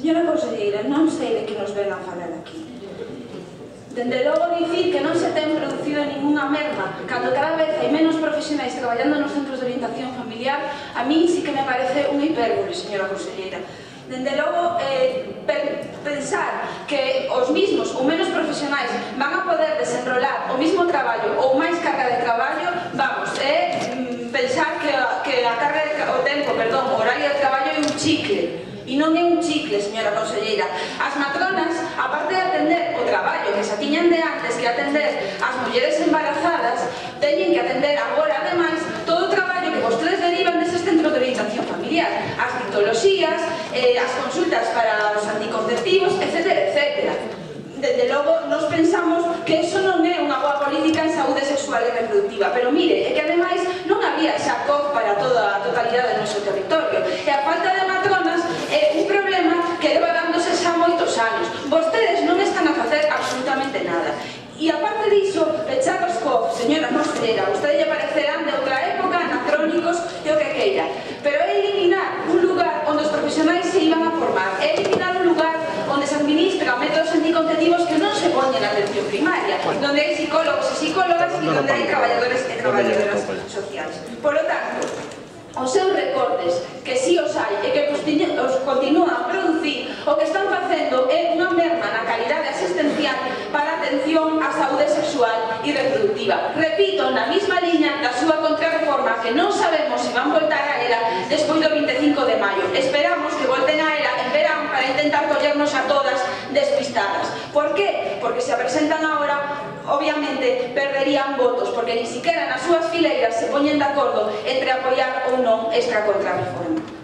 Señora conselleira, non sei de que nos ven a falar aquí. Dende logo dicir que non se ten producido ninguna merma cando cada vez hai menos profesionais traballando nos centros de orientación familiar, a mí sí que me parece unha hipérbole, señora conselleira. Dende logo, pensar que os mismos ou menos profesionais van a poder desenrolar o mismo traballo ou máis carga de traballo, vamos, pensar que a carga de o tempo, perdón, o horario de traballo é un chicle. E non é un chicle, señora conselleira. As matronas, aparte de atender o traballo que xa tiñan de antes que atender as mulleres embarazadas, teñen que atender agora, ademais, todo o traballo que vostedes derivan deses centros de orientación familiar, as citoloxías, as consultas para os anticonceptivos, etc, etc. Desde logo, nos pensamos que eso non é unha boa política en saúde sexual e reproductiva, pero mire, é que ademais non había xa COP para toda a totalidade do noso territorio, e a falta de matronas é un problema que leva dándose xa moitos anos. Vostedes non están a facer absolutamente nada. E aparte diso, pechar os COP, señora conselleira, vostede lle parecerán de outra época, anacrónicos e o que queira, pero é eliminar un lugar onde os profesionais se iban a formar, é eliminar un lugar onde se administran métodos anticonceptivos que non se poñen na atención primaria, onde hai psicólogos e psicólogas e onde hai traballadores e traballadoras sociales. Por lo tanto, os seus recortes, que si os hai e que os continúan a producir, o que están facendo é unha merma na calidade asistencial para a atención á saúde sexual e reproductiva. Repito, na mesma liña da súa contrarreforma, que non sabemos se van voltar a ela despois do 25 de maio. Esperamos que volten a ela en verán para intentar collernos a todas despistadas. Por qué? Porque se a presentan agora, obviamente perderían votos, porque ni siquiera nas súas fileiras se poñen de acordo entre apoiar ou non esta contrarreforma.